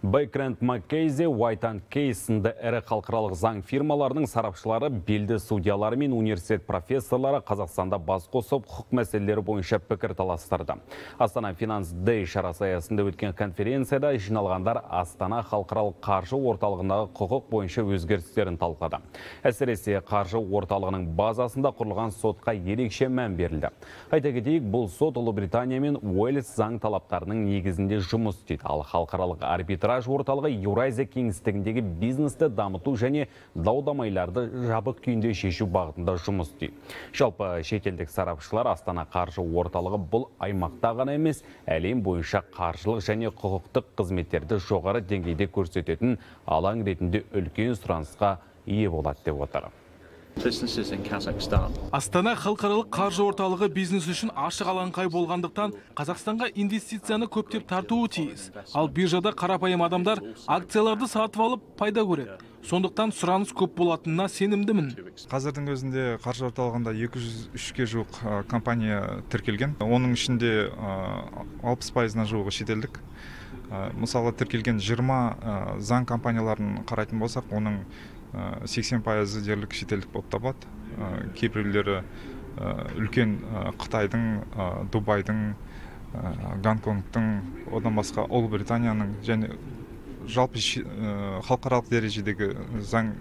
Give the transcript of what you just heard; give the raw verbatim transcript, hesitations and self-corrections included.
Baker McKenzie, White энд Case сынды ірі халықаралық заң фирмаларының сарапшылары, белді судьялары мен университет профессорлары Қазақстанда бас қосып, құқық мәселелері бойынша пікір таластырды. Астана Finance Day шарасы аясында өткен конференцияда жиналғандар Астана халықаралық қаржы орталығындағы құқық бойынша өзгерістерін талқылады. Әсіресе қаржы орталығының базасында құрылған сотқа ерекше мән берілді. Айта кетейік, бұл сот Ұлыбритания мен Уэльс заң талаптарының негізінде жұмыс істейді. Ал халықаралық арбитраж орталығы Еуразия кеңістігіндегі бизнесті дамыту және дау-дамайларды жабық күйінде шешу бағытында жұмыс істейді. Жалпы шетелдік сарапшылар Астана қаржы орталығы бұл аймақта ғана емес, әлем бойынша қаржылық және құқықтық қызметтерді жоғары деңгейде көрсететін алаң ретінде үлкен сұранысқа ие болады деп отыр. Астана халықаралық қаржы орталығы бизнес үшін ашық алаңқай болғандықтан Қазақстанға инвестицияны көптеп тартуы тиіс. Ал биржада қарапайым адамдар акцияларды сатып алып пайда көреді. Сондықтан сұраныс көп болатынына сенімдімін. Қазірдің өзінде қаржы орталығында екі жүз үшке жуық компания тіркелген. Оның ішінде алпыс пайызына жуығы шетелдік. Мысалы, тіркелген жиырма заң компанияларын қарайтын болсақ, оның сексен пайызы дерлік шетелдік болып табылады. Кейбіреулері үлкен Қытайдың, Дубайдың, Гонконгтың, одан басқа Ұлыбританияның және жалпы халықаралық дәрежедегі заң